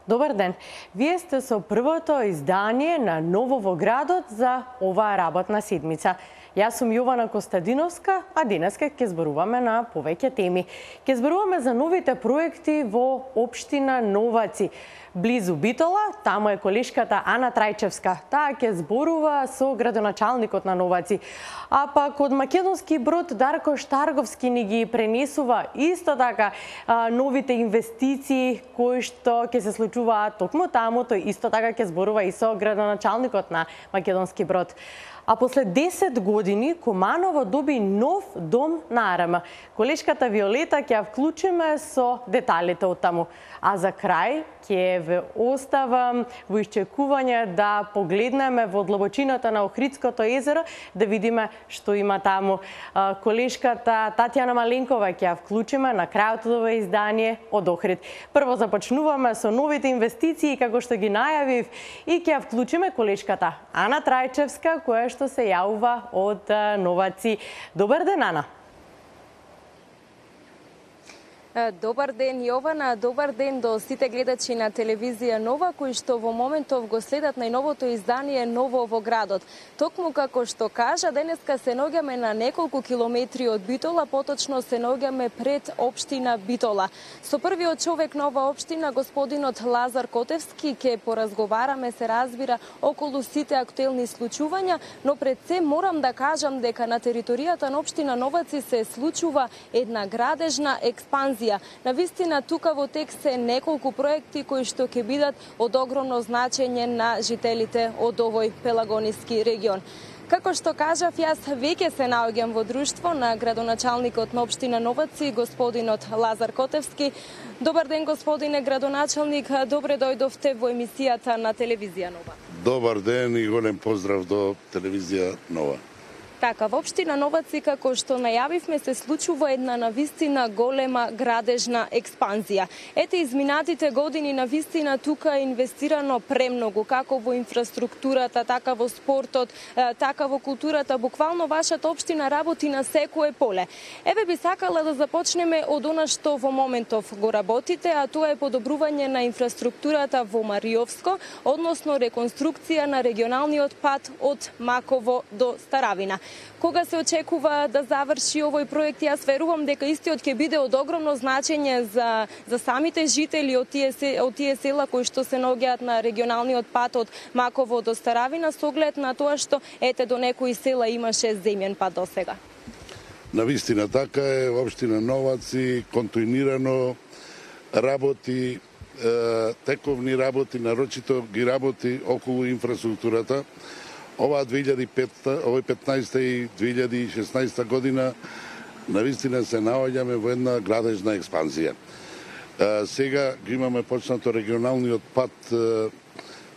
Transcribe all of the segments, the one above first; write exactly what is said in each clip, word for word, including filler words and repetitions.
Добар ден. Вие сте со првото издание на Ново во градот за оваа работна седмица. Јас сум Јована Костадиновска, а денеска ќе зборуваме на повеќе теми. Ќе зборуваме за новите проекти во општина Новаци. Близу Битола, таму е колешката Ана Трајчевска. Таа ќе зборува со градоначалникот на Новаци. А пак од Македонски брод Дарко Штарговски ни ги пренесува исто така новите инвестиции кои што ќе се случуваат токму таму. Тој исто така ќе зборува и со градоначалникот на Македонски брод. А после десет години Куманово доби нов дом на Арама. Колешката Виолета ќе ја вклучиме со деталите од таму. А за крај ќе ве оставам во исчекување да погледнеме во длабочината на Охридското езеро, да видиме што има таму. Колешката Татјана Маленкова ќе ја вклучиме на крајот од ова издание од Охрид. Прво започнуваме со новите инвестиции, како што ги најавив, и ќе ја вклучиме колешката Ана Трајчевска, која што се јавува од Новаци. Добар ден, Ана. Добар ден, Јована, добар ден до сите гледачи на телевизија Нова, кои што во моментов го следат најновото издание Ново во градот. Токму како што кажа, денеска се наоѓаме на неколку километри од Битола, поточно се наоѓаме пред општина Битола. Со првиот човек на ова општина, господинот Лазар Котевски, ќе поразговараме, се разбира, околу сите актуелни случувања, но пред се морам да кажам дека на територијата на општина Новаци се случува една градежна експанзија. Навистина, тука во тек се неколку проекти кои што ќе бидат од огромно значење на жителите од овој пелагониски регион. Како што кажав, јас веќе се наоѓам во друштво на градоначалникот на општина Новаци, господинот Лазар Котевски. Добар ден, господине градоначалник, добре дојдовте во емисијата на телевизија Нова. Добар ден и голем поздрав до телевизија Нова. Така, во општина Новаци, како што најавивме, се случува една навистина голема градежна експанзија. Ете, изминатите години навистина тука е инвестирано премногу, како во инфраструктурата, така во спортот, така во културата. Буквално вашата општина работи на секое поле. Еве би сакала да започнеме од она што во моментов го работите, а тоа е подобрување на инфраструктурата во Мариовско, односно реконструкција на регионалниот пат од Маково до Старавина. Кога се очекува да заврши овој проект? Јас верувам дека истиот ќе биде од огромно значење за, за самите жители од тие, од тие села кои што се наоѓаат на регионалниот пат од Маково до Старавина, со оглед на тоа што ете до некои села имаше земјен пат до сега. Навистина така е, општина Новаци континуирано работи, тековни работи, нарочито ги работи околу инфраструктурата. Ова две илјади и петта, овој петнаесетта и две илјади и шеснаесетта година навистина се наоѓаме во една градежна експанзија. Сега ги имаме почнато регионалниот пат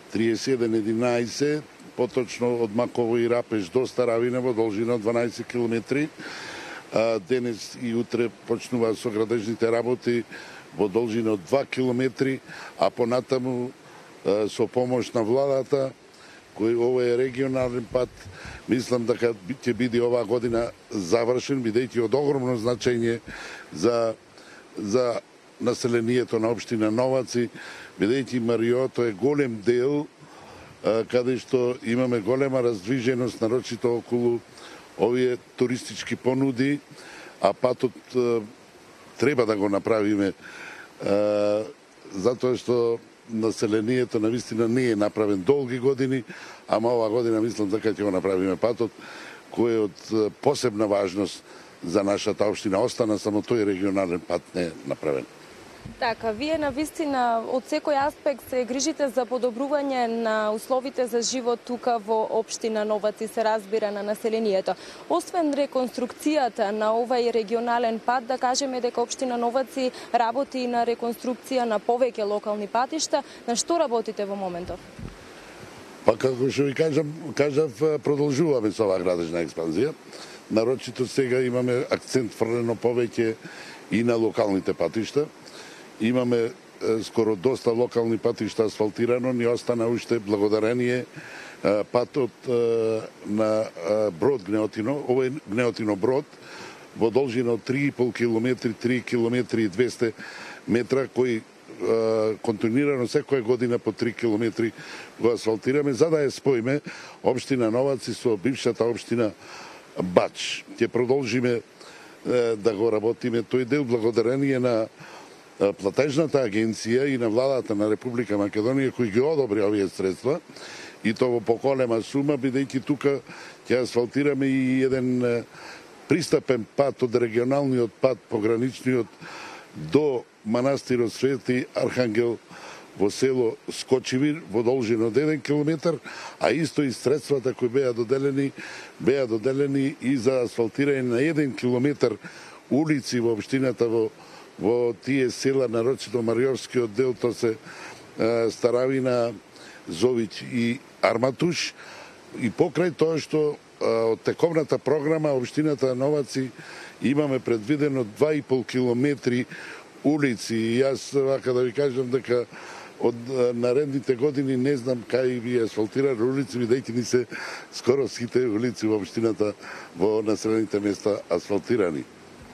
триесет и еден единаесет, поточно од Маково и Рапеш до Старавина во должина од дванаесет километри. Денес и утре почнуваат со градежните работи во должина од два километри, а понатаму со помош на владата, кој овој е регионален пат, мислам дека ќе биде оваа година завршен, бидејќи од огромно значење за, за населението на општина Новаци, бидејќи Мариото е голем дел, каде што имаме голема раздвиженост, нарочито околу овие туристички понуди, а патот треба да го направиме, затоа што населението навистина не е направен долги години, ама ова година мислам дека ќе го направиме патот, кој е од посебна важност за нашата општина. Остана само тој регионален пат не е направен. Така, вие навистина од секој аспект се грижите за подобрување на условите за живот тука во општина Новаци, се разбира, на населението. Освен реконструкцијата на овај регионален пат, да кажеме дека општина Новаци работи и на реконструкција на повеќе локални патишта. На што работите во моментов? Па како што ви кажам, кажав, продолжуваме со оваа градежна експанзија. Нарочито сега имаме акцент фрлено повеќе и на локалните патишта. Имаме скоро доста локални патишта асфалтирано, ни остана уште благодарение патот на Брод Гнеотино, овој Гнеотино Брод, во должина од три и пол километри, три километри и двесте метра, кој континуирано секоја година по три километри го асфалтираме, за да ја споиме општина Новаци со бившата општина Бач. Ќе продолжиме да го работиме тој дел благодарение на платежната агенција и на владата на Република Македонија кои ги одобри овие средства и тоа во поголема сума, бидејќи тука ќе асфалтираме и еден пристапен пат од регионалниот пат, пограничниот до манастирот Свети Архангел во село Скочивир во должина од еден километар, а исто и средствата кои беа доделени, беа доделени и за асфалтирање на еден километар улици во општината во, во тие села, нарочито Мариорскиот дел, тоа се е, Старавина, Зович и Арматуш. И покрај тоа што од тековната програма општината Новаци имаме предвидено два и пол километри улици и јас вака да ви кажам дека од наредните години не знам кај би асфалтирали улици, бидејќи ни се скоро сите улици во општината во населените места асфалтирани.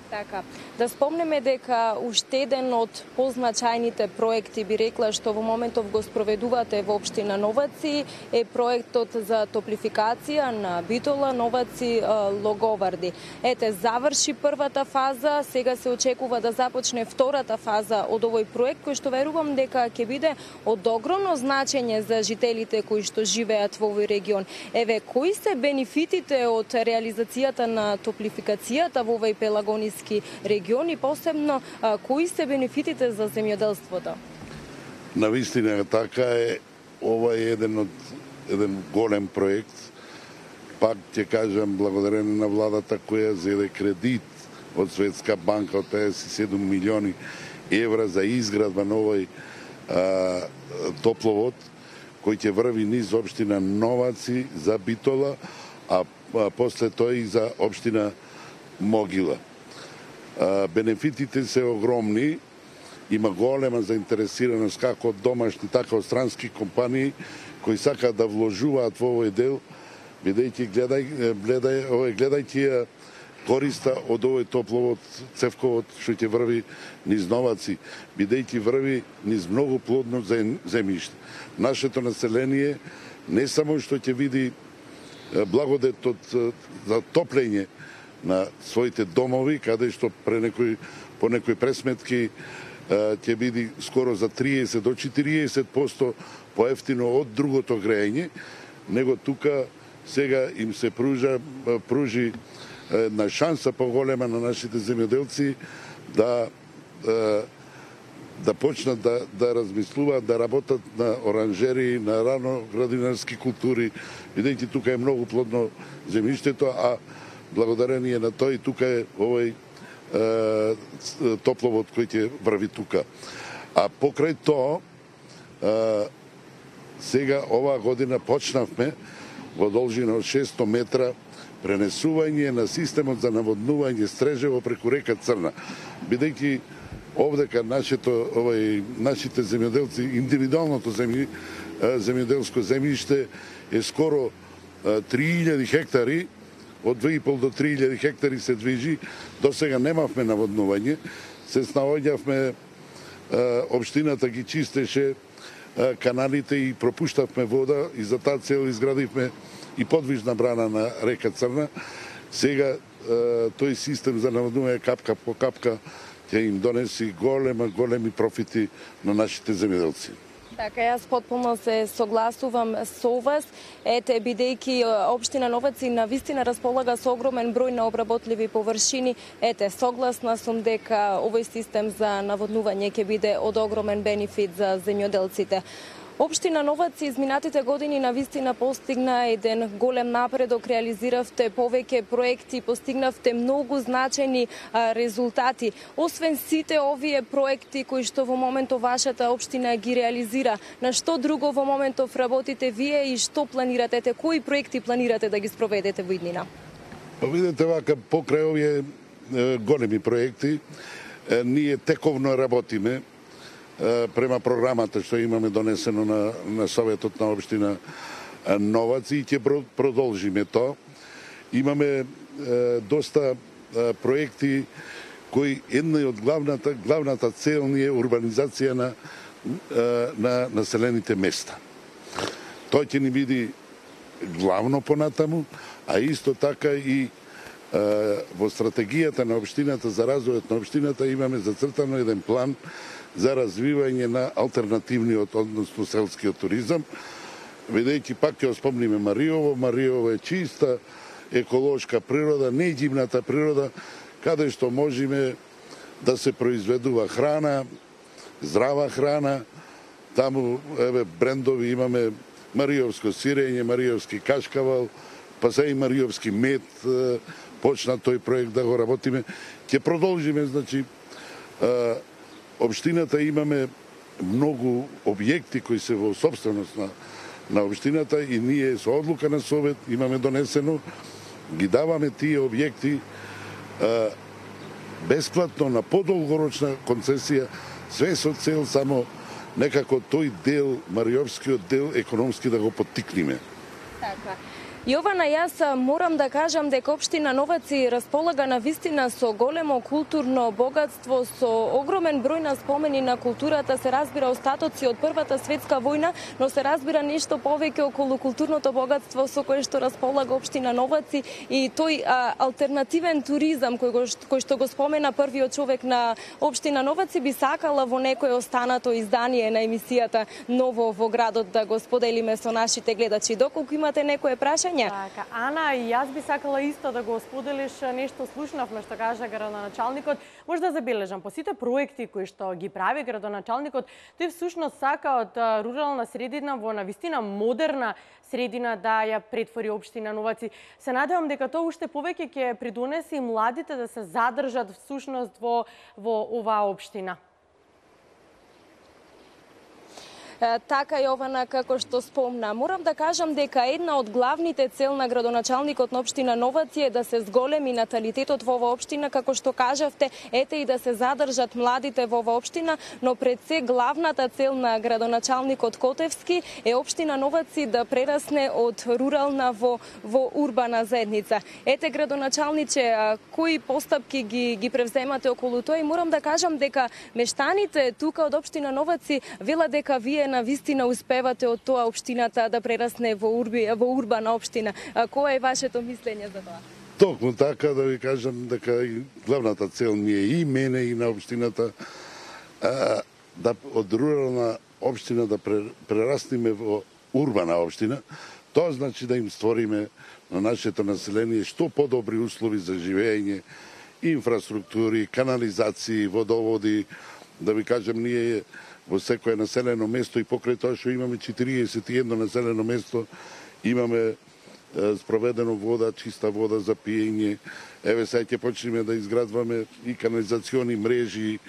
Така, да спомнеме дека уште еден од позначајните проекти, би рекла, што во моментов го спроведувате во општина Новаци е проектот за топлификација на Битола, Новаци, Логоварди. Ете, заврши првата фаза, сега се очекува да започне втората фаза од овој проект, кој што верувам дека ќе биде од огромно значење за жителите кои што живеат во овој регион. Еве, кои се бенефитите од реализацијата на топлификацијата во овој пелагониски региони, посебно а, кои се бенефитите за земјоделството? Навистина така е, ова е еден од еден голем проект. Пак ќе кажам благодарение на владата која зеде кредит од Светска банка од педесет и седум милиони евра за изградба на овој а, топловод кој ќе врви низ општина Новаци за Битола, а, а после тоа и за општина Могила. Бенефитите се огромни, има голема заинтересираност како од домашни, така од странски компании кои сакаат да вложуваат во овој дел, бидејќи гледај, гледај, овој гледајќи ја користа од овој топловод, цевковод што ќе врви низ Новаци, бидејќи врви низ многу плодно земјиште. Нашето население не само што ќе види благодетот за топлење на своите домови, каде што пре некој, по некои пресметки ќе биде скоро за триесет до четириесет проценти поевтино од другото грејење, него тука сега им се пружа, пружи една шанса поголема на нашите земјоделци да да почнат да, да размислуваат, да работат на оранжери, на рано градинарски култури, бидејќи тука е многу плодно земјиштето, а благодарение на тој тука е овој е, топловод кој ќе врви тука. А покрај тоа, е, сега оваа година почнавме во должина од шестост метра пренесување на системот за наводнување Стрежево преку река Црна. Бидејќи овдека нашето, овој, нашите земјоделци, индивидуалното земји, земјоделско земјиште е скоро три илјади хектари, од две и пол до три илјади хектари се движи, до сега немавме наводнување, се снаоѓавме, општината ги чистеше каналите и пропуштавме вода и за таа цел изградивме и подвижна брана на река Црна. Сега тој систем за наводнување капка по капка ќе им донеси голема, големи профити на нашите земјоделци. Така, јас потполно се согласувам со вас. Ете, бидејќи општина Новаци навистина располага со огромен број на обработливи површини, ете, согласна сум дека овој систем за наводнување ќе биде од огромен бенефит за земјоделците. Општина Новаци изминатите години навистина постигна еден голем напредок, реализиравте повеќе проекти, постигнавте многу значени а, резултати. Освен сите овие проекти кои што во моментов вашата општина ги реализира, на што друго во моментов работите вие и што планирате, кои проекти планирате да ги спроведете во иднина? Па видите вака, покрај овие е, големи проекти, е, ние тековно работиме према програмата што имаме донесено на, на Советот на општина Новаци и ќе продолжиме тоа. Имаме е, доста е, проекти кој една од главната главната цел ни е урбанизација на на населените места. Тој ќе ни биде главно понатаму, а исто така и во стратегијата на општината за развојот на општината имаме зацртано еден план за развивање на алтернативниот, односно селскиот туризам, бидејќи пак ќе спомниме Мариово, Мариово е чиста еколошка природа, неѓивната природа, каде што можеме да се произведува храна, здрава храна. Таму еве брендови имаме мариовско сирење, мариовски кашкавал, па се и мариовски мед, почна тој проект да го работиме. Ќе продолжиме, значи, општината имаме многу објекти кои се во собственост на, на општината и ние со одлука на Совет имаме донесено, ги даваме тие објекти а, бесплатно на подолгорочна концесија, све со цел само некако тој дел, мариовскиот дел, економски да го поттикнеме. Така. Јована, јас морам да кажам дека општина Новаци располага на вистина со големо културно богатство, со огромен број на спомени на културата, се разбира остатоци од Првата светска војна, но се разбира нешто повеќе околу културното богатство со кое што располага општина Новаци и тој а, алтернативен туризам кој, го, кој што го спомена првиот човек на општина Новаци, би сакала во некој останато издание на емисијата Ново во градот да го споделиме со нашите гледачи. Доколку имате некое прашање? Така, Ана, и јас би сакала исто да го споделиш нешто слушнавме што кажа градоначалникот. Може да забележам, по сите проекти кои што ги прави градоначалникот, тој всушност сака од рурална средина во навистина модерна средина да ја претвори општина Новаци. Се надевам дека тоа уште повеќе ќе придонесе и младите да се задржат всушност во во оваа општина. Така, Јована, како што спомна. Морам да кажам дека една од главните цел на градоначалникот на општина Новаци е да се зголеми наталитетот во оваа општина, како што кажавте, ете и да се задржат младите во оваа општина, но пред се главната цел на градоначалникот Котевски е општина Новаци да прерасне од рурална во во урбана заедница. Ете, градоначалниче, кои постапки ги ги превземате околу тоа и морам да кажам дека мештаните тука од општина Новаци велат дека вие на вистина успевате од тоа општината да прерасне во урби, во урбана општина. А, кое е вашето мислење за тоа? Токму така, да ви кажам дека и главната цел ми е и мене и на општината а, да од рурална општина да прераснеме во урбана општина. Тоа значи да им створиме на нашето население што подобри услови за живење, инфраструктури, канализации, водоводи, да ви кажам ние во секое населено место и покрај тоа што имаме четириесет и едно населено место, имаме е, спроведено вода, чиста вода за пиење. Еве сега ќе почнеме да изградваме и канализациони мрежи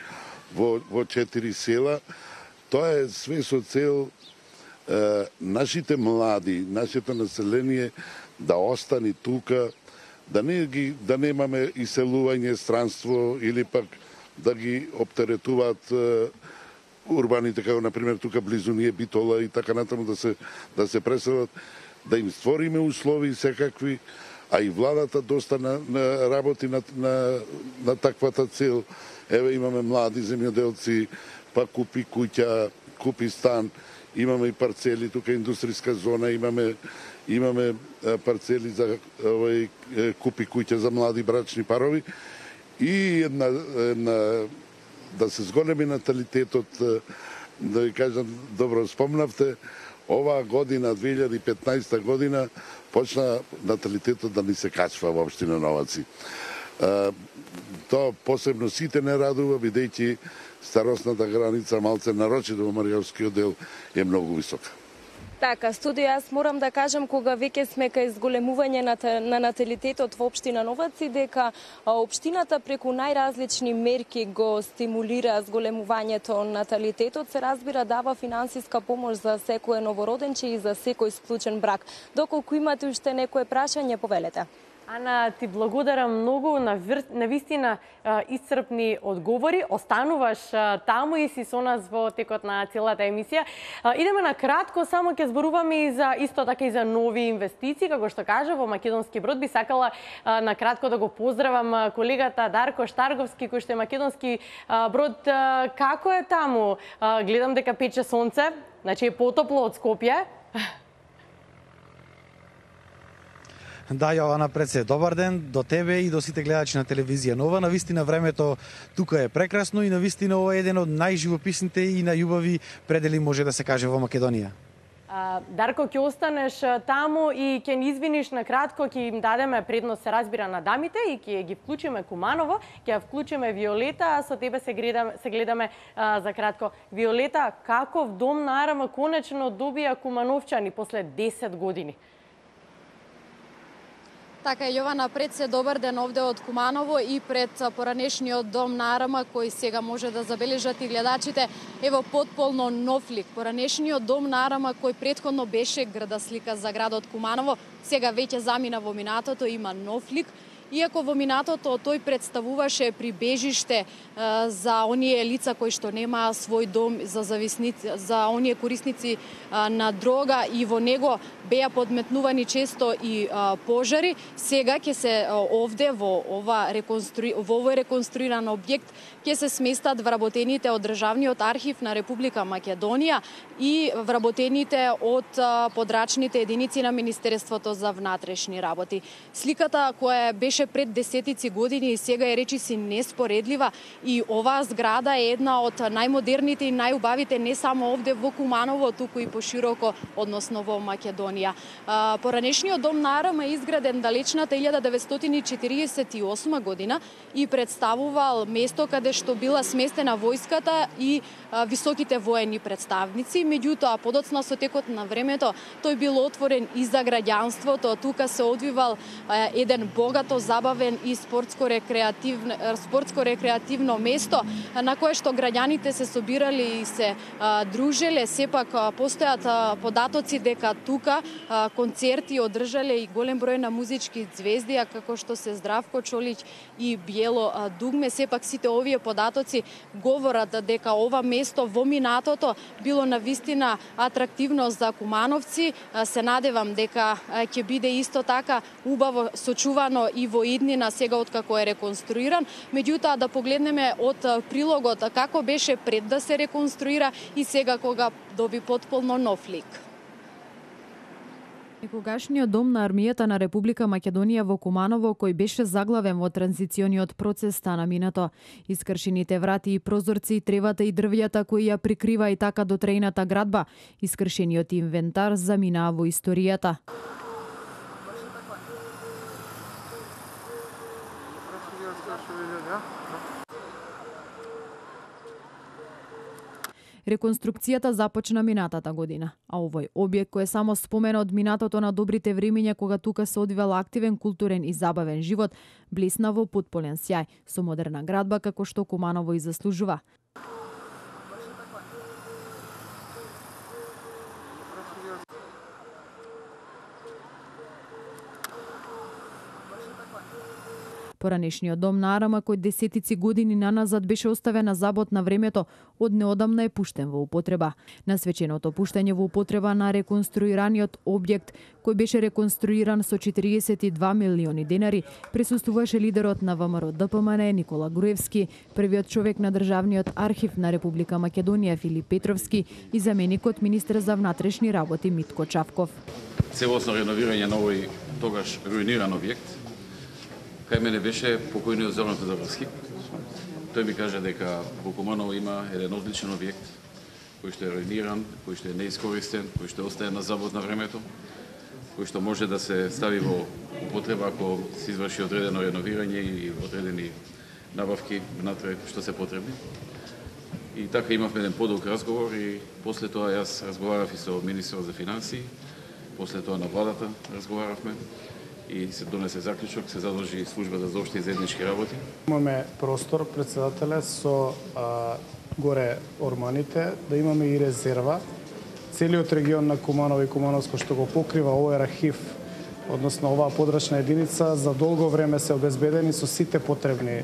во, во четири села. Тоа е све со цел е, нашите млади, нашето население да остани тука, да не ги да немаме иселување, странство или пак да ги оптеретуваат е, урбаните, како например тука близу ние Битола и така натаму да се да се преселат, да им створиме услови секакви, а и владата доста на, на работи на, на, на таквата цел. Еве имаме млади земјоделци, па купи куќа, купи стан, имаме и парцели, тука индустријска зона, имаме имаме парцели за овој купи куќа за млади брачни парови и една една да се зголеми наталитетот, да ви кажам, добро спомнавте, оваа година, две илјади и петнаесетта година, почна наталитетот да ни се качва во општина Новаци. Тоа посебно сите не радува, бидејќи старосната граница малце нарочито во Мариовскиот дел е многу висока. Така, студио, јас морам да кажам, кога веќе сме кај зголемување на, на наталитетот во општина Новаци, дека општината преку најразлични мерки го стимулира зголемувањето на наталитетот, се разбира дава финансиска помош за секој новороденче и за секој склучен брак. Доколку имате уште некое прашање, повелете. Ана, ти благодарам многу на, вир... на вистина исцрпни одговори. Остануваш таму и си со нас во текот на целата емисија. Идеме на кратко, само ќе зборуваме и за исто така и за нови инвестиции, како што кажа во Македонски брод. Би сакала на кратко да го поздравам колегата Дарко Штарговски, кој што е Македонски брод. Како е таму? Гледам дека пече сонце, значи е потопло од Скопје. Да, Јована Преце, добар ден до тебе и до сите гледачи на телевизија Нова. Навистина времето тука е прекрасно и навистина ова е еден од најживописните и најубави предели, може да се каже, во Македонија. А, Дарко, ќе останеш таму и ќе ни извиниш на кратко, ќе им дадеме предност, се разбира, на дамите и ќе ги вклучиме Куманово, ќе ја вклучиме Виолета, а со тебе се гледаме, се гледаме а, за кратко. Виолета, каков дом на Арама конечно добија кумановчани после десет години? Така е, Јована Преце, добар ден овде од Куманово и пред поранешниот дом на Арама, кој сега може да забележат и гледачите. Ево потполно нов лик. Поранешниот дом на Арама, кој претходно беше грда слика за градот Куманово, сега веќе замина во минатото, има нов лик. Иако во минатото тој представуваше прибежиште а, за оние лица кои што немаа свој дом, за зависници, за оние корисници а, на дрога, и во него беа подметнувани често и а, пожари, сега ќе се а, овде во ова реконструи, во овој реконструиран објект ќе се сместат вработените од Државниот архив на Република Македонија и вработените од а, подрачните единици на Министерството за внатрешни работи. Сликата која беше пред десетици години и сега е речиси неспоредлива, и оваа зграда е една од најмодерните и најубавите не само овде во Куманово, туку и пошироко, односно во Македонија. Поранешниот дом на Арама е изграден далечната илјада деветстотини четиридесет и осма година и представувал место каде што била сместена војската и високите воени представници. Меѓутоа, подоцна со текот на времето, тој бил отворен и за граѓанството. Тука се одвивал еден богато забавен и спортско-рекреативно спортско-рекреативно место на кое што граѓаните се собирали и се а, дружеле. Сепак а, постојат а, податоци дека тука а, концерти одржале и голем број на музички звезди, а како што се Здравко Чолич и Биело а, Дугме. Сепак сите овие податоци говорат дека ова место во минатото било навистина атрактивно за кумановци. А, се надевам дека ќе биде исто така убаво сочувано и во иднина сега откако е реконструиран. Меѓутоа, да погледнеме од прилогот како беше пред да се реконструира и сега кога доби потполно нов лик. Некогашниот дом на армијата на Република Македонија во Куманово, кој беше заглавен во транзициониот процес, стана минато. Искршените врати и прозорци, тревата и дрвјата кои ја прикрива и така дотрејната градба, искршениот инвентар заминаа во историјата. Реконструкцијата започна минатата година, а овој објект кој е само спомена од минатото на добрите времиња кога тука се одвивал активен културен и забавен живот, блесна во потполен сјај, со модерна градба како што Куманово и заслужува. Поранешниот дом на Арама, кој десетици години наназад беше оставен на забот на времето, од неодамна е пуштен во употреба. На свеченото пуштање во употреба на реконструираниот објект, кој беше реконструиран со четириесет и два милиони денари, присуствуваше лидерот на ВМРО Д П М Н Никола Груевски, првиот човек на Државниот архив на Република Македонија Филип Петровски и заменикот министер за внатрешни работи Митко Чавков. Целосно реновирање на овој тогаш руиниран објект. Кај мене беше покојниот Зоран Тодоровски. Тој ми кажа дека во Куманово има еден одличен објект кој што е руиниран, кој што е неискористен, кој што остае на забот на времето, кој што може да се стави во употреба ако се изврши одредено реновирање и одредени набавки внатре што се потребни. И така имавме еден подолг разговор и после тоа јас разговарав и со министерот за финансии, после тоа на владата разговаравме и се донесе заклучок, се задолжи службата за општи и заеднички работи. Имаме простор, председателе, со а, горе орманите, да имаме и резерва. Целиот регион на Куманово и Кумановско што го покрива овој архив односно оваа подрачна единица за долго време се обезбедени со сите потребни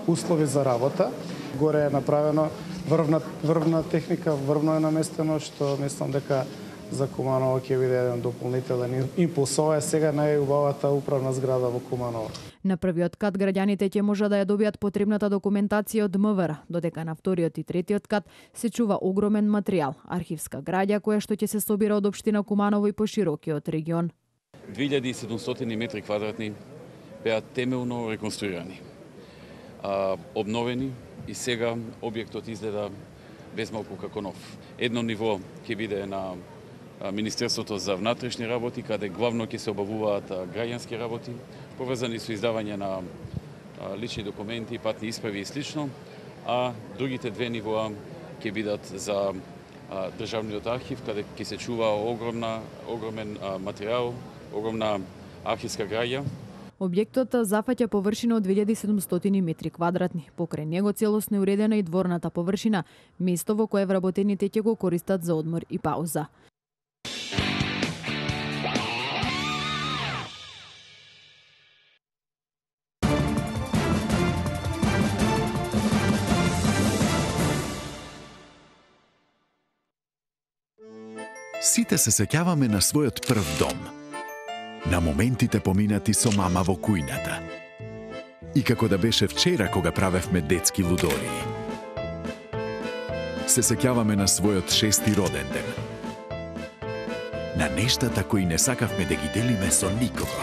услови за работа. Горе е направено врвна, врвна техника, врвно е наместено, што мислам дека за Куманово ќе биде еден дополнителен импулс. Ова е сега најубавата управна зграда во Куманово. На првиот кат граѓаните ќе може да ја добијат потребната документација од МВР, додека на вториот и третиот кат се чува огромен материјал, архивска граѓа која што ќе се собира од општина Куманово и поширокиот регион. две илјади и седумстотини метри квадратни беа темелно реконструирани, а, обновени и сега објектот изгледа безмалку како нов. Едно ниво ќе биде на Министерството за внатрешни работи, каде главно ќе се обавуваат граѓански работи, поврзани со издавање на лични документи, патни исправи и слично, а другите две нивоа ќе бидат за Државниот архив, каде ќе се чува огромна, огромен материјал, огромна архивска граѓа. Објектот зафаќа површина од две илјади и седумстотини метри квадратни. Покрај него целосно е уредена и дворната површина, место во кое вработените ќе го користат за одмор и пауза. Сите се сеќаваме на својот прв дом, на моментите поминати со мама во кујната. И како да беше вчера кога правевме детски лудории. Се сеќаваме на својот шести роден ден. На нештата кои не сакавме да ги делиме со никого.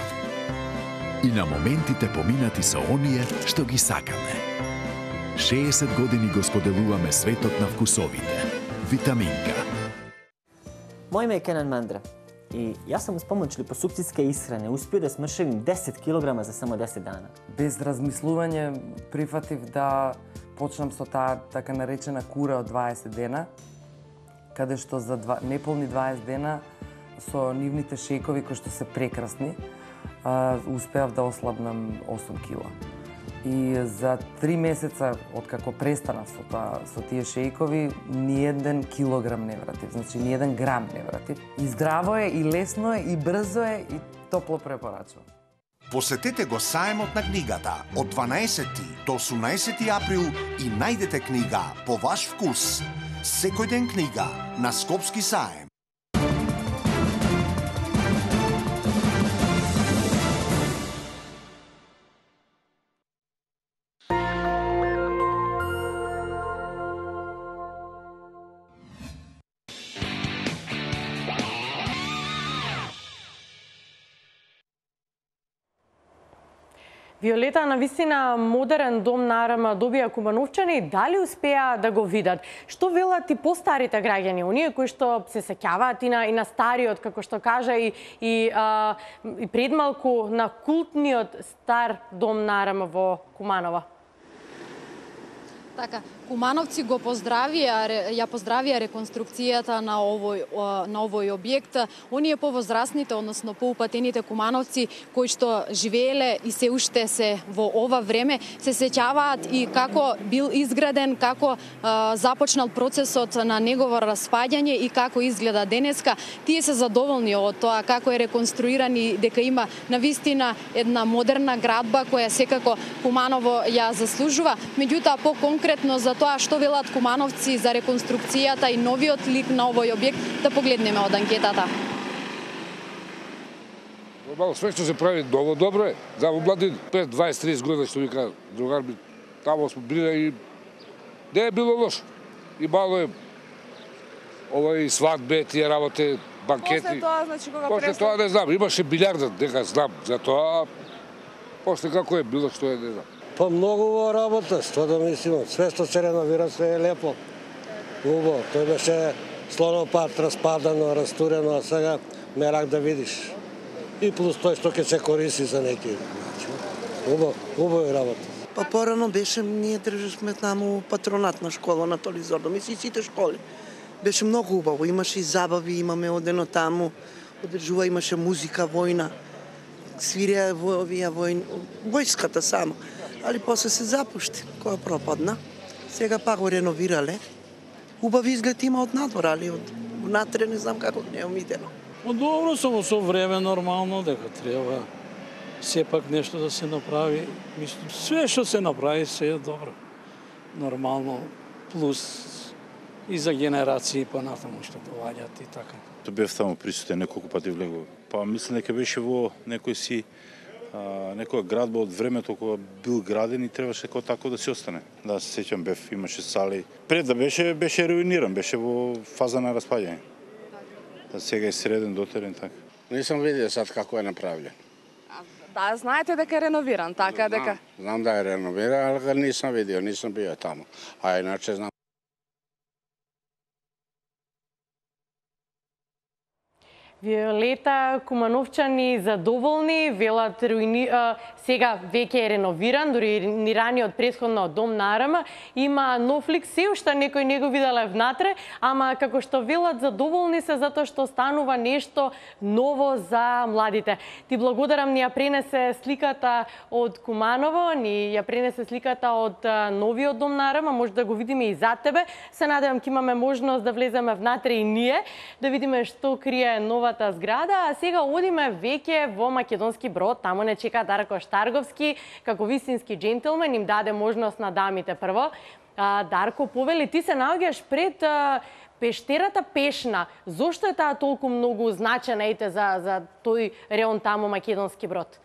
И на моментите поминати со оние што ги сакаме. шеесет години го споделуваме светот на вкусовите. Витаминка. Мој име е Кенан Мандра и јас сум с помоќ липосукцијска исхрана успео да смршевим десет килограма за само десет дана. Без размислување прифатив да почнам со таа така наречена кура од дваесет дена, каде што за два, неполни дваесет дена со нивните шејкови кои што се прекрасни, а, успеав да ослабнам осум кила. И за три месеца откако престанав со тоа со тие шејкови, ни еден килограм не вратив, значи ни еден грам не вратив. И здраво е, и лесно е, и брзо е, и топло препорачувам. Посетете го саемот на книгата од дванаесети до осумнаесети април и најдете книга по ваш вкус. Секој ден книга на Скопски саем. Виолета, навистина модерен дом на АРМ добија кумановчани, дали успеа да го видат? Што велат и постарите граѓани, оние кои што се сеќаваат и на, и на стариот, како што кажа и, и, а, и предмалку на култниот стар дом на АРМ во Куманово? Така, кумановци го поздравија, ја поздравија реконструкцијата на овој на овој објект. Оние повозрасните, односно поупатените кумановци кои што живееле и се уште се во ова време, се сеќаваат и како бил изграден, како а, започнал процесот на негово распаѓање и како изгледа денеска. Тие се задоволни од тоа како е реконструиран и дека има навистина една модерна градба која секако Куманово ја заслужува. Меѓутоа, по конкретно за тоа што велат кумановци за реконструкцијата и новиот лик на овој објект, да погледнеме од анкетата. Нормално, све што се прави ново добро е. За млади пред дваесет тридесет години, што вика другар ми, тамо сме били и не е било лошо. И мало е овој свадбе, тие работи, банкети. После тоа, значи, кога После тоа не знам, имаше билиарда, дека знам за тоа. После како е било, што е, не знам. Па многу работа, што да мислимо, све што се реновира, све е лепо. Убаво, тој беше слонопат, распадано, растурено, а сега мерак да видиш. И плюс тој што ќе се користи за неки. Убаво, убаво е работа. Па порано беше, ние државме таму патронатна школа на Толи Зордо, мисли сите школи. Беше многу убаво, имаше и забави, имаме одено таму, одржува, имаше музика, војна, свирија во овие војн, војската само. Али после се запушти, која пропадна. Сега пак го реновирале. Убав изглед има од надвор, али од внатре не знам како не е видено. Добро, само со време нормално, дека треба сепак нешто да се направи. Мислам, све што се направи, се е добро. Нормално, плюс и за генерации понатаму што доаѓаат и така. Тоа бев таму присутен, неколку пати влегов. Па мислам дека беше во некој си а, некоја градба од времето кога бил граден и требаше како тако да се остане. Да, се сеќам, бев, имаше сали. Пред да беше, беше руиниран, беше во фаза на распаѓање. Да, сега е среден, дотерен, така. Не сум видел сад како е направлен. Да, знаете дека е реновиран, така знам, дека? Знам да е реновиран, ali ga nisam vidio, nisam bio tamo. A inače znam. Виолета Кумановчани задоволни, велат руини, а, сега веќе е реновиран, дури руинираниот претходно дом на Арама, има нов лик, се уште некој не го виделе внатре, ама како што велат задоволни се затоа што станува нешто ново за младите. Ти благодарам, ни ја пренесе сликата од Куманово, ни ја пренесе сликата од а, новиот дом на Арама, може да го видиме и за тебе. Се надевам ќе имаме можност да влеземе внатре и ние, да видиме што крие нова зграда, а сега одиме веќе во Македонски Брод, таму не чека Дарко Штарговски, како вистински джентилмен, им даде можност на дамите прво. А, Дарко, повели, ти се наоѓаш пред а, пештерата Пешна. Зошто е таа толку многу значена ете за, за тој реон таму Македонски Брод?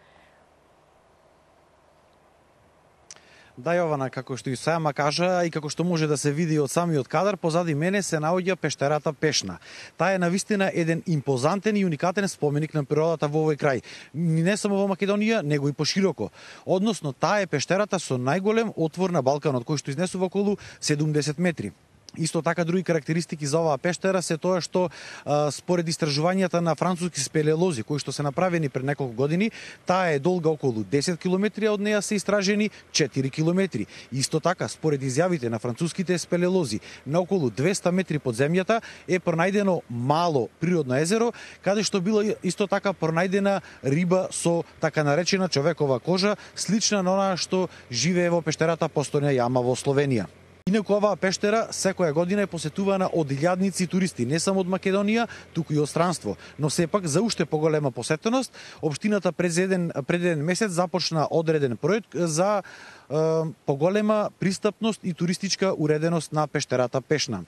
Да, Јована, како што и сама кажа и како што може да се види од самиот кадар, позади мене се наоѓа пештерата Пешна. Таа е навистина еден импозантен и уникатен споменик на природата во овој крај. Не само во Македонија, него и пошироко. Односно, таа е пештерата со најголем отвор на Балканот, кој што изнесува околу седумдесет метри. Исто така други карактеристики за оваа пештера се тоа што а, според истражувањата на француски спелеолози кои што се направени пред неколку години, таа е долга околу десет километри, од неа се истражени четири километри. Исто така според изјавите на француските спелеолози, на околу двесте метри под земјата е пронајдено мало природно езеро, каде што била исто така пронајдена риба со така наречена човекова кожа, слична на онаа што живее во пештерата Постојна јама во Словенија. Инаку оваа пештера секоја година е посетувана од илјадници туристи, не само од Македонија, туку и од странство. Но сепак за уште поголема посетеност, општината пред еден пред еден месец започна одреден проект за е, поголема пристапност и туристичка уреденост на пештерата Пешна.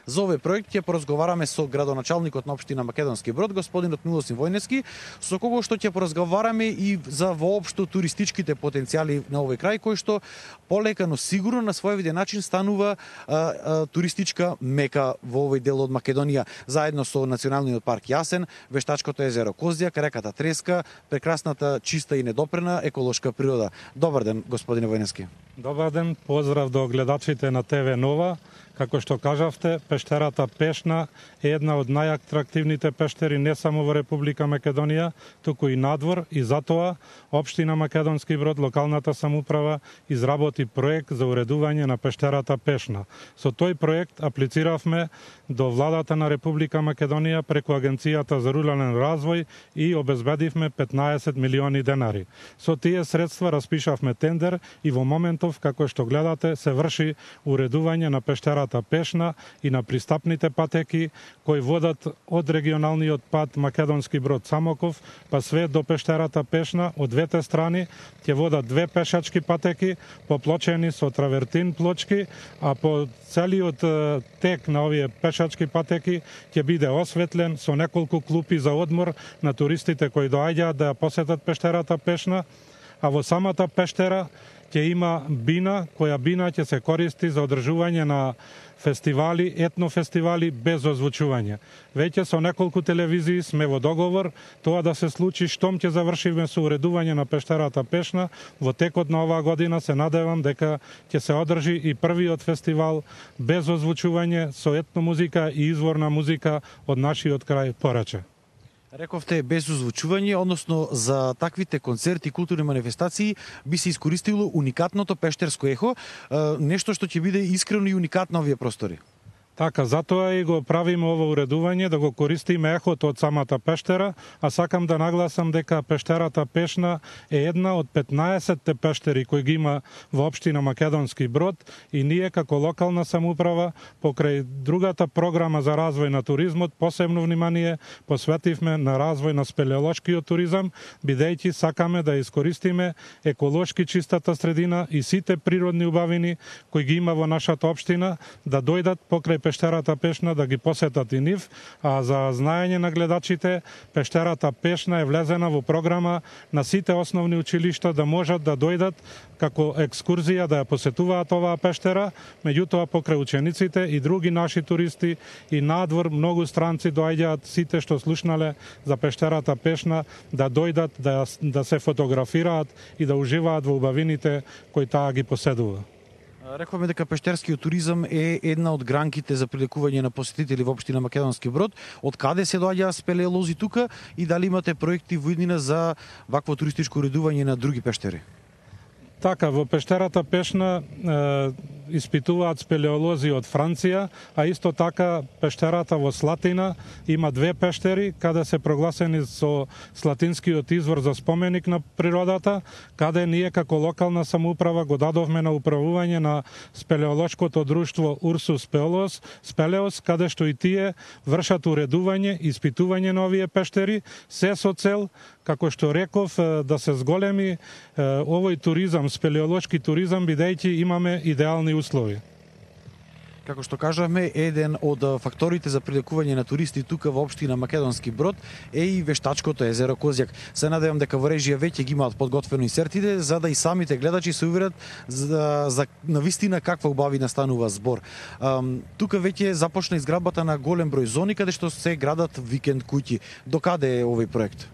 За овој проект ќе поразговараме со градоначалникот на општина Македонски Брод, господинот Милосим Војнески, со кого што ќе поразговараме и за воопшто туристичките потенцијали на овој крај, кој што полека, но сигурно на свој виден начин станува а, а, туристичка мека во овој дел од Македонија, заедно со Националниот парк Јасен, вештачкото езеро Козјак, реката Треска, прекрасната, чиста и недопрена еколошка природа. Добар ден, господине Војнески. Добар ден, поздрав до гледачите на ТВ Нова. Како што кажавте, пештерата Пешна е една од најатрактивните пештери не само во Република Македонија, туку и надвор, и затоа општина Македонски Брод, локалната самоуправа, изработи проект за уредување на пештерата Пешна. Со тој проект аплициравме до владата на Република Македонија преку Агенцијата за рурален развој и обезбедивме петнаесет милиони денари. Со тие средства распишавме тендер и во моментов, како што гледате, се врши уредување на пештерата Пешна и на пристапните патеки кои водат од регионалниот пат Македонски Брод Самоков, па све до пештерата Пешна. Од двете страни ќе водат две пешачки патеки, поплочени со травертин плочки, а по целиот тек на овие пешачки патеки ќе биде осветлен со неколку клупи за одмор на туристите кои доаѓаат да ја посетат пештерата Пешна, а во самата пештера ќе има бина, која бина ќе се користи за одржување на фестивали, етнофестивали без озвучување. Веќе со неколку телевизии сме во договор тоа да се случи штом ќе завршиме со уредување на пештерата Пешна. Во текот на оваа година се надевам дека ќе се одржи и првиот фестивал без озвучување со етномузика и изворна музика од нашиот крај Пораче. Рековте без озвучување, односно за таквите концерти и културни манифестации би се искористило уникатното пештерско ехо, нешто што ќе биде искрено и уникатно овие простори. Така, затоа и го правиме ово уредување, да го користиме ехото од самата пештера, а сакам да нагласам дека пештерата Пешна е една од петнаесетте пештери кои ги има во општина Македонски Брод и ние како локална самоуправа покрај другата програма за развој на туризмот посебно внимание посветивме на развој на спелеолошкиот туризам, бидејќи сакаме да искористиме еколошки чистата средина и сите природни убавини кои ги има во нашата општина да дојдат покрај пештерата Пешна да ги посетат и нив, а за знаење на гледачите, пештерата Пешна е влезена во програма на сите основни училишта да можат да дојдат како екскурзија да ја посетуваат оваа пештера, меѓутоа покрај учениците и други наши туристи и надвор многу странци доаѓаат сите што слушнале за пештерата Пешна да дојдат да, да се фотографираат и да уживаат во убавините кои таа ги поседува. Рековме дека пештерскиот туризам е една од гранките за привлекување на посетители во општина Македонски Брод. Од каде се доаѓаат спелеолози тука и дали имате проекти во иднина за вакво туристичко уредување на други пештери? Така, во пештерата Пешна е, испитуваат спелеолози од Франција, а исто така пештерата во Слатина има две пештери, каде се прогласени со Слатинскиот извор за споменик на природата, каде ние како локална самоуправа го дадовме на управување на спелеолошкото друштво Урсус Спелеос, Спелеос, каде што и тие вршат уредување и испитување на овие пештери, се со цел, како што реков, да се зголеми овој туризам, спелеолошки туризам, бидејќи имаме идеални услови. Како што кажавме, еден од факторите за привлекување на туристи тука во општина Македонски Брод е и вештачкото езеро Козјак. Се надевам дека во режија веќе ги имаат подготвено инсертите, за да и самите гледачи се уверат за, за навистина каква убавина станува збор. Um, тука веќе започна изградбата на голем број зони каде што се градат викенд куќи. До каде е овој проект?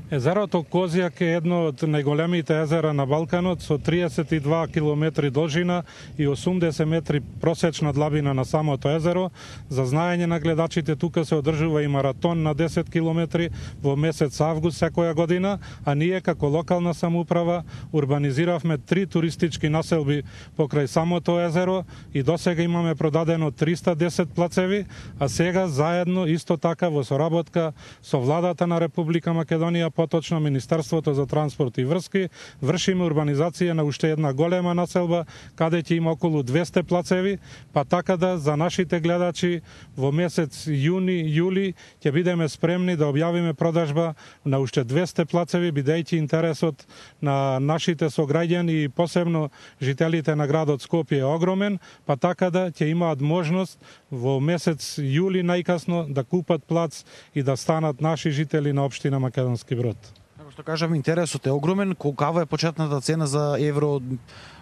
Езерото Козјак е едно од најголемите езера на Балканот со триесет и два километри должина и осумдесет метри просечна длабина на самото езеро. За знаење на гледачите, тука се одржува и маратон на десет километри во месец август секоја година, а ние како локална самоуправа урбанизиравме три туристички населби покрај самото езеро и досега имаме продадено триста и десет плацеви, а сега заедно исто така во соработка со владата на Република Македонија, поточно Министерството за транспорт и врски, вршиме урбанизација на уште една голема населба, каде ќе има околу двесте плацеви, па така да за нашите гледачи во месец јуни, јули ќе бидеме спремни да објавиме продажба на уште двесте плацеви, бидејќи интересот на нашите сограѓани и посебно жителите на градот Скопје е огромен, па така да ќе имаат можност во месец јули најкасно да купат плац и да станат наши жители на општина Македонски Брод. Како што кажам, интересот е огромен. Колкава е почетната цена за евро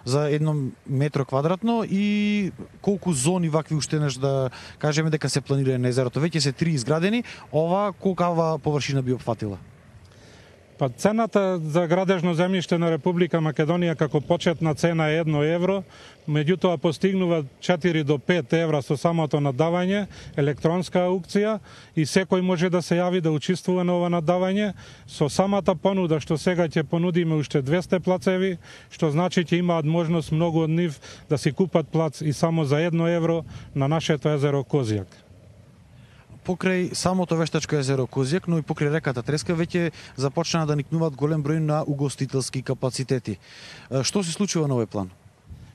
за едно метро квадратно и колку зони вакви уште неш да кажеме дека се планира на езерото? Веќе се три изградени, ова колкава површина би опфатила? Па цената за градежно земјиште на Република Македонија како почетна цена е едно евро, меѓутоа постигнува четири до пет евра со самото надавање, електронска аукција и секој може да се јави да учествува на ова надавање. Со самата понуда што сега ќе понудиме уште двесте плацеви, што значи ќе имаат можност многу од нив да си купат плац и само за едно евро на нашето езеро Козјак. Покрај самото вештачко езеро Козјак, но и покрај реката Треска веќе започна да никнуваат голем број на угостителски капацитети. Што се случува на овој план?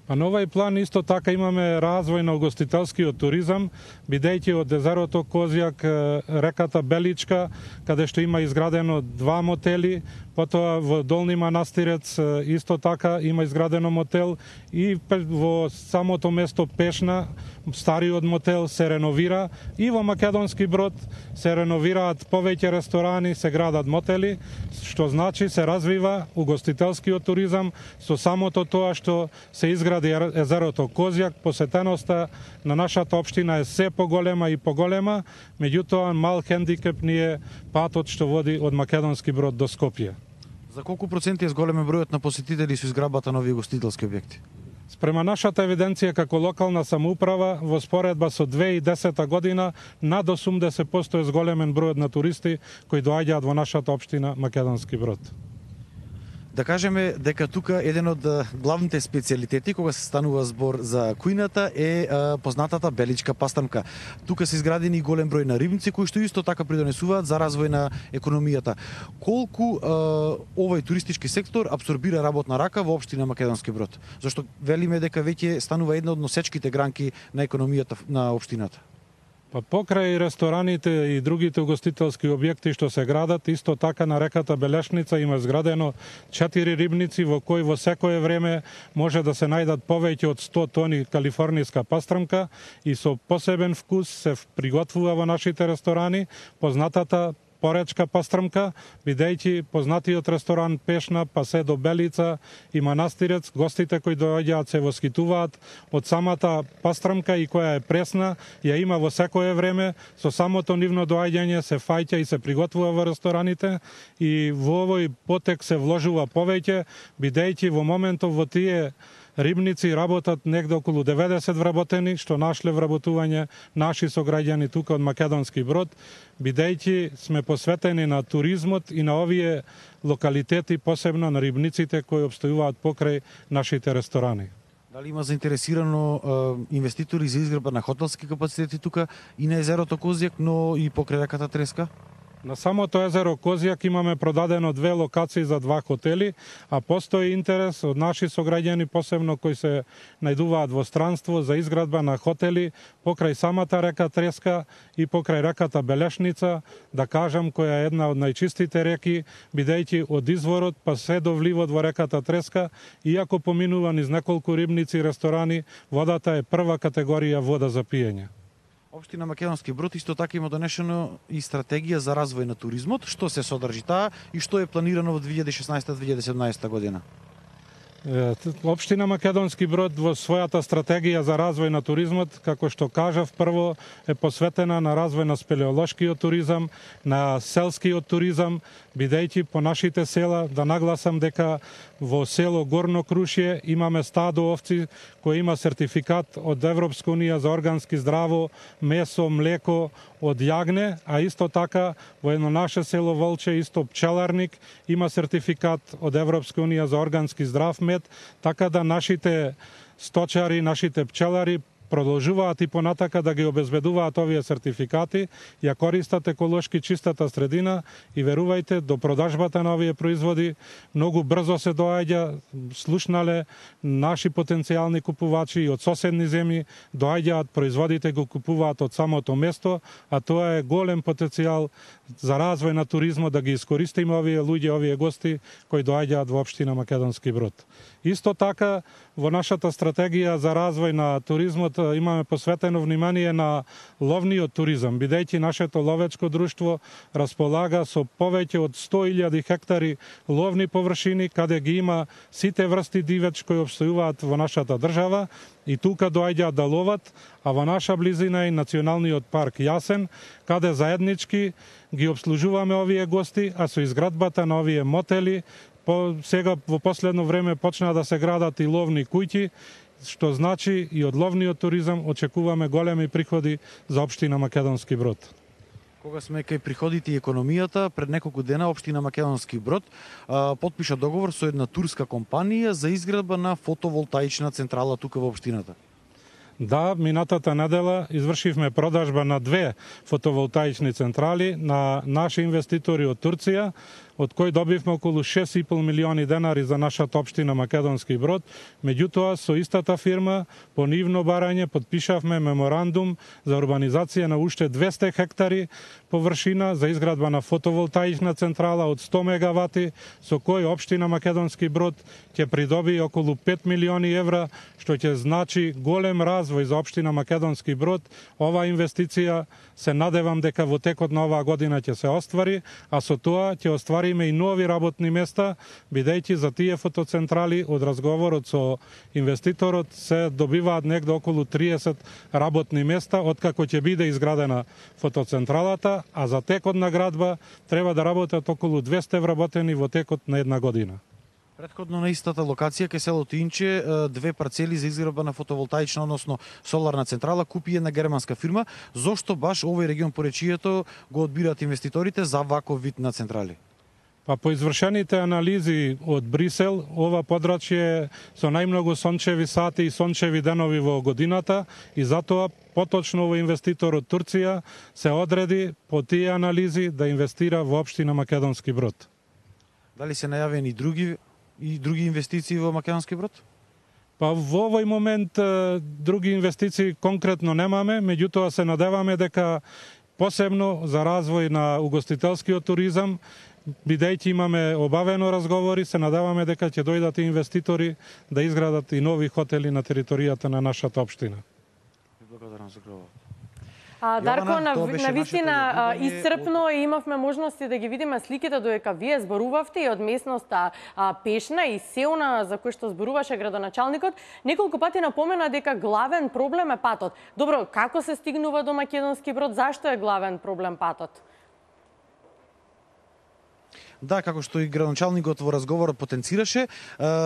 А на овој план исто така имаме развој на угостителскиот туризам, бидејќи од езерото Козјак, реката Беличка, каде што има изградено два мотели, потоа во Долни Манастирец исто така има изградено мотел и во самото место Пешна стариот мотел се реновира и во Македонски Брод се реновираат повеќе ресторани, се градат мотели, што значи се развива угостителскиот туризам со самото тоа што се изгради езерото Козјак. Посетеноста на нашата општина е се поголема и поголема, меѓутоа мал хендикеп ни е патот што води од Македонски Брод до Скопје. За колку проценти е зголемен бројот на посетители со изградбата на овие угостителски објекти? Спрема нашата евиденција како локална самоуправа, во споредба со две тисачи и десета година, над осумдесет проценти е зголемен бројот на туристи кои доаѓаат во нашата општина Македонски Брод. Да кажеме дека тука еден од главните специјалитети кога се станува збор за кујната е а, познатата беличка пастрамка. Тука се изградени голем број на рибници кои што исто така придонесуваат за развој на економијата. Колку а, овој туристички сектор апсорбира работна рака во општина Македонски Брод? Зашто велиме дека веќе станува една од носечките гранки на економијата на општината. Па покрај рестораните и другите угостителски објекти што се градат, исто така на реката Белешница има зградено четири рибници во кои во секое време може да се најдат повеќе од сто тони калифорнијска пастрамка и со посебен вкус се приготвува во нашите ресторани познатата поречка пастрамка, бидејќи познатиот ресторан Пешна, па се до Белица и Манастирец, гостите кои доаѓаат се воскитуваат од самата пастрамка и која е пресна, ја има во секое време, со самото нивно доаѓање се фаќа и се приготвува во рестораните и во овој потек се вложува повеќе, бидејќи во моментов во тие рибници работат негде околу деветдесет вработени, што нашле вработување наши сограѓани тука од Македонски Брод, бидејќи сме посветени на туризмот и на овие локалитети, посебно на рибниците кои обстојуваат покрај нашите ресторани. Дали има заинтересирано е, инвеститори за изградба на хотелски капацитети тука и на езерото Козјак, но и покрај реката Треска? На самото езеро Козјак имаме продадено две локации за два хотели, а постои интерес од наши сограѓани, посебно кои се најдуваат во странство, за изградба на хотели покрај самата река Треска и покрај реката Белешница, да кажам, која е една од најчистите реки, бидејќи од изворот па се до вливот во реката Треска, иако поминува низ неколку рибници и ресторани, водата е прва категорија вода за пиење. Општина Македонски Брод исто така има донесено и стратегија за развој на туризмот. Што се содржи таа и што е планирано во две илјади и шеснаесета - две илјади и седумнаесета година? Општина Македонски Брод во својата стратегија за развој на туризмот, како што кажав, прво е посветена на развој на спелеолошкиот туризам, на селскиот туризам, бидејќи по нашите села, да нагласам дека во село Горно Крушје имаме стадо овци кој има сертификат од Европска унија за органски здраво месо, млеко од јагне, а исто така во едно наше село Волче, исто пчеларник, има сертификат од Европска унија за органски здрав мед, така да нашите сточари, нашите пчелари продолжуваат и понатака да ги обезбедуваат овие сертификати, ја користат еколошки чистата средина и верувајте, до продажбата на овие производи многу брзо се доаѓа, слушнале наши потенцијални купувачи и од соседни земји доаѓаат производите, го купуваат од самото место, а тоа е голем потенцијал за развој на туризмот, да ги искористиме овие луѓе, овие гости кои доаѓаат во општина Македонски Брод. Исто така, во нашата стратегија за развој на туризмот имаме посветено внимание на ловниот туризам, бидејќи нашето ловечко друштво располага со повеќе од сто илјади хектари ловни површини, каде ги има сите врсти дивеч кои обстојуваат во нашата држава и тука доаѓаат да ловат, а во наша близина е Националниот парк Јасен, каде заеднички ги обслужуваме овие гости, а со изградбата на овие мотели, по сега во последно време почна да се градат и ловни куќи, што значи и од ловниот туризам очекуваме големи приходи за општина Македонски Брод. Кога сме кај приходите и економијата, пред неколку дена општина Македонски Брод а, подпиша договор со една турска компанија за изградба на фотоволтаична централа тука во општината. Да, минатата недела извршивме продажба на две фотоволтаични централи на наши инвеститори од Турција, од кој добивме околу шест и пол милиони денари за нашата општина Македонски Брод. Меѓутоа, со истата фирма, по нивно барање, подпишавме меморандум за урбанизација на уште двесте хектари површина за изградба на фотоволтаична централа од сто мегавати, со кој општина Македонски Брод ќе придобие околу пет милиони евра, што ќе значи голем развој за општина Македонски Брод. Ова инвестиција се надевам дека во текот на оваа година ќе се оствари, а со тоа ќе оствариме и нови работни места, бидејќи за тие фотоцентрали од разговорот со инвеститорот се добиваат негде околу триесет работни места откако ќе биде изградена фотоцентралата, а за текот на градба треба да работат околу двесте вработени во текот на една година. Претходно на истата локација кај селото Инче, две парцели за изградба на фотоволтаична, односно соларна централа, купи една германска фирма. Зошто баш овој регион по речието го одбираат инвеститорите за ваков вид на централи? Па по извршените анализи од Брисел, ова подрачје со најмногу сончеви сати и сончеви денови во годината и затоа поточно овој инвеститор од Турција се одреди по тие анализи да инвестира во општина Македонски Брод. Дали се најавени и други и други инвестиции во Македонски Брод? Па во овој момент други инвестиции конкретно немаме, меѓутоа се надеваме дека посебно за развој на угостителскиот туризам, бидејќи имаме обавено разговори, се надеваме дека ќе дојдат и инвеститори да изградат и нови хотели на територијата на нашата општина. Благодарам за одговорот. А, Дарко, Јована, на, на вистина исцрпно и имавме можности да ги видиме сликите додека вие зборувавте и од местноста а, Пешна и Сеона за кој што зборуваше градоначалникот, неколку пати напомена дека главен проблем е патот. Добро, како се стигнува до Македонски Брод? Зашто е главен проблем патот? Да, како што и градоначалникот во разговорот потенцираше,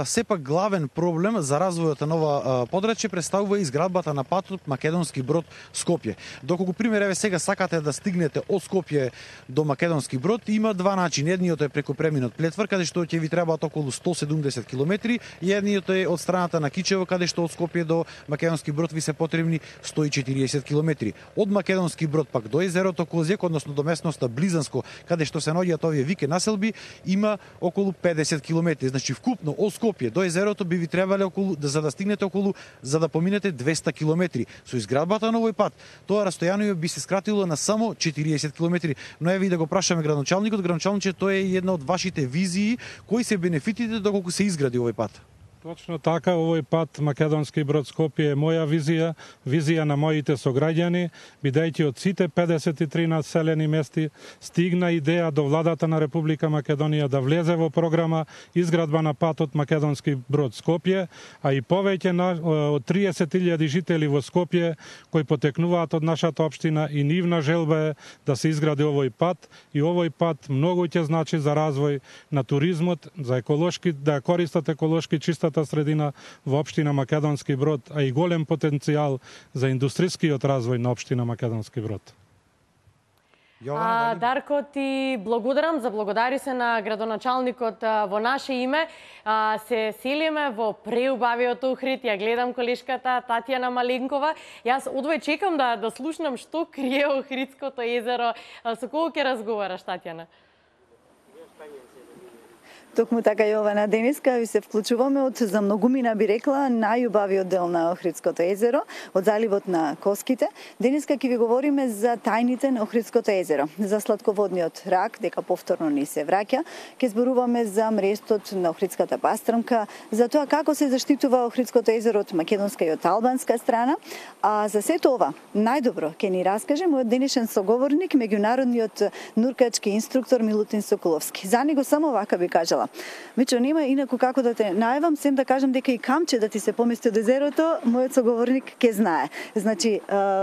сепак главен проблем за развојот на нова подрачје представува изградбата на патот Македонски Брод Скопје. Доколку пример еве сега сакате да стигнете од Скопје до Македонски Брод, има два начини. Едниот е преку преминот Плетвар, каде што ќе ви требаат околу сто седумдесет километри, и едниот е од страната на Кичево, каде што од Скопје до Македонски Брод ви се потребни сто и четириесет километри. Од Македонски Брод пак до езерото Козјак, односно до местноста Близанско, каде што се наоѓаат овие вике населби, има околу педесет километри. Значи вкупно од Скопје до езерото би ви требале околу, за да стигнете околу, за да поминете двеста километри. Со изградбата на овој пат, тоа растојание би се скратило на само четириесет километри. Но еве и да го прашаме градоначалникот, градоначалниче, тоа е една од вашите визии, кои се бенефитите доколку се изгради овој пат? Точно така, овој пат Македонски Брод Скопје е моја визија, визија на моите сограѓани, бидејќи од сите педесет и три населени мести стигна идеја до владата на Република Македонија да влезе во програма изградба на патот Македонски Брод Скопје, а и повеќе на, од триесет илјади жители во Скопје кои потекнуваат од нашата општина и нивна желба е да се изгради овој пат, и овој пат многу ќе значи за развој на туризмот, за еколошки, да користат еколошки чистата средина во општина Македонски Брод, а и голем потенцијал за индустрискиот развој на општина Македонски Брод. А, Дарко, ти благодарам, заблагодари се на градоначалникот во наше име. А, се селиме во преубавиот Охрид, ја гледам колешката Татјана Маленкова. Јас одвој чекам да, да слушнам што крие Охридското езеро. А, со кого ќе разговараш, Татјана? Токму така, Јована, денеска ви се вклучуваме од, за многумина би рекла, најубавиот дел на Охридското езеро, од заливот на Коските. Денеска ќе ви говориме за тајните на Охридското езеро, за сладководниот рак, дека повторно ни се враќа. Ќе зборуваме за мрестот на Охридската пастрмка, за тоа како се заштитува Охридското езеро од македонска и од албанска страна. А за сето ова, најдобро ќе ни раскаже мојот денешен соговорник, меѓународниот нуркачки инструктор Милутин Соколовски. За него само вака би кажала: Мичо, нема инаку како да те најавам, сем да кажам дека и камче да ти се помести од езерото, мојот соговорник ке знае. Значи,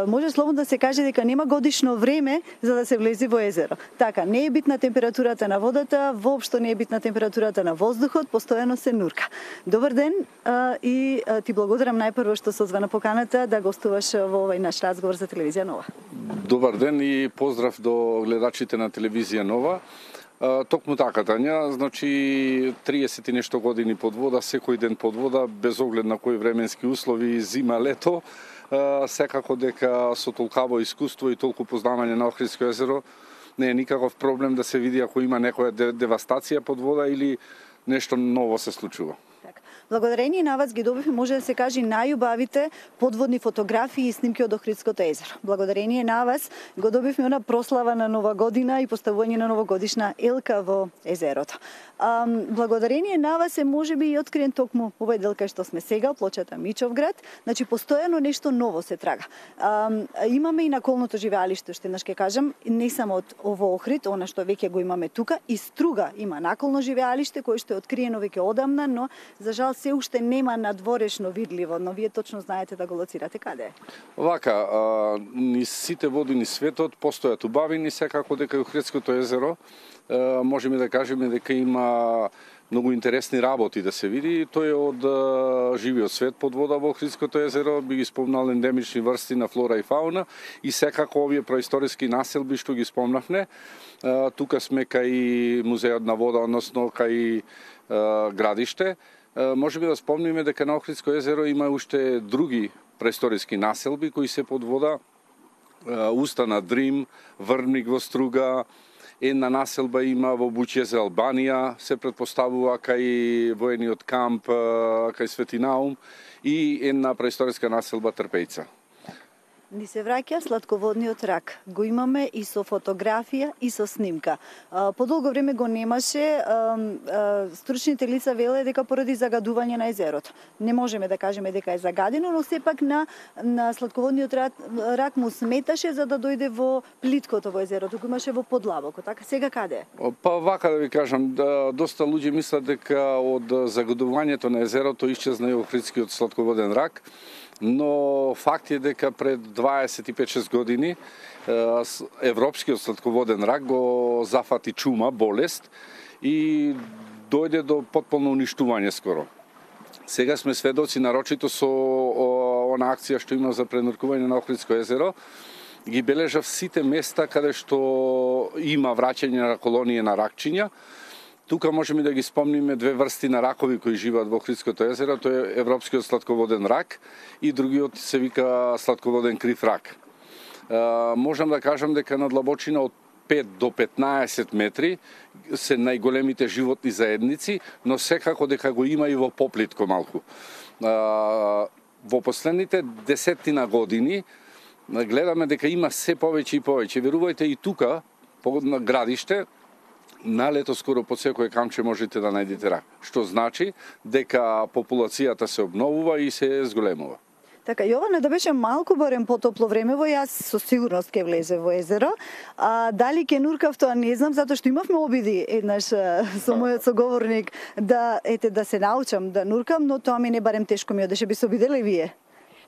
може слободно да се каже дека нема годишно време за да се влези во езеро. Така, не е битна температурата на водата, воопшто не е битна температурата на воздухот, постојано се нурка. Добар ден и ти благодарам најпрво што се озвана поканата да гостуваш во овој наш разговор за телевизија Нова. Добар ден и поздрав до гледачите на телевизија Нова. Токму така, Тања, значи триесет и нешто години под вода, секој ден под вода, без оглед на кои временски услови, зима, лето, секако дека со толкаво искуство и толку познавање на Охридско езеро не е никаков проблем да се види ако има некоја девастација под вода или нешто ново се случува. Благодарение на вас ги добивме, може да се каже, најубавите подводни фотографии и снимки од Охридското езеро. Благодарение на вас го добивме она прослава на Нова година и поставување на новогодишна елка во езерото. А, благодарение на вас е можеби и откриен токму овој дел кај што сме сега, плочата Мичовград. Значи постојано нешто ново се трага. А, имаме и наколното живеалиште, што еднаш ќе кажам, не само од ово Охрид, она што веќе го имаме тука, и Струга има наколно живеалиште кој што е откриено веќе одамна, но за жал се уште нема надворешно видливо, но вие точно знаете да го лоцирате каде е. Вака, низ сите води низ светот постојат убавини, секако дека Охридското езеро можеме да кажеме дека има многу интересни работи да се види. Тој е од а, живиот свет под вода во Охридското езеро, би ги спомнал ендемични врсти на флора и фауна и секако овие преисториски населби што ги спомнавме. А, тука сме кај музеот на вода, односно кај а, градиште. А, може би да спомниме дека на Охридско езеро има уште други преисториски населби кои се под вода. А, уста на Дрим, Врвник во Струга, една населба има во Бучје за Албанија, се предпоставува кај воениот камп, кај Свети Наум и една преисториска населба Трпејца. Ни се враќа сладководниот рак. Го имаме и со фотографија и со снимка. По долго време го немаше. Стручните лица веле дека поради загадување на езерото. Не можеме да кажеме дека е загадено, но сепак на, на сладководниот рак, рак му сметаше за да дојде во плиткото во езерото, го имаше во подлабоко. Така сега каде е? Па вака да ви кажам, да, доста луѓе мислат дека од загадувањето на езерото исчезна и Охридскиот сладководен рак. Но факт е дека пред дваесет и пет шест години европскиот сладководен рак го зафати чума, болест и дојде до потполно уништување скоро. Сега сме сведоци, нарочито со она акција што има за пренуркување на Охридско езеро, ги бележав сите места каде што има враќање на колонија на ракчиња. Тука можеме да ги спомниме две врсти на ракови кои живеат во Охридското езеро, тоа е европскиот сладководен рак и другиот се вика сладководен крив рак. А, можам да кажам дека на длабочина од пет до петнаесет метри се најголемите животни заедници, но секако дека го има и во поплитко малку. А, во последните десетина години гледаме дека има се повеќе и повеќе. Верувајте, и тука, на градиште, на лето скоро под секој камче можете да најдете рак, што значи дека популацијата се обновува и се зголемува. Така, Јоване, да беше малку барем потопло времево, јас со сигурност ќе влезе во езеро. А дали ќе нуркав, тоа не знам, затоа што имавме обиди еднаш со мојот соговорник да ете да се научам да нуркам, но тоа ми не барем тешко ми одеше, би се обиделе и вие.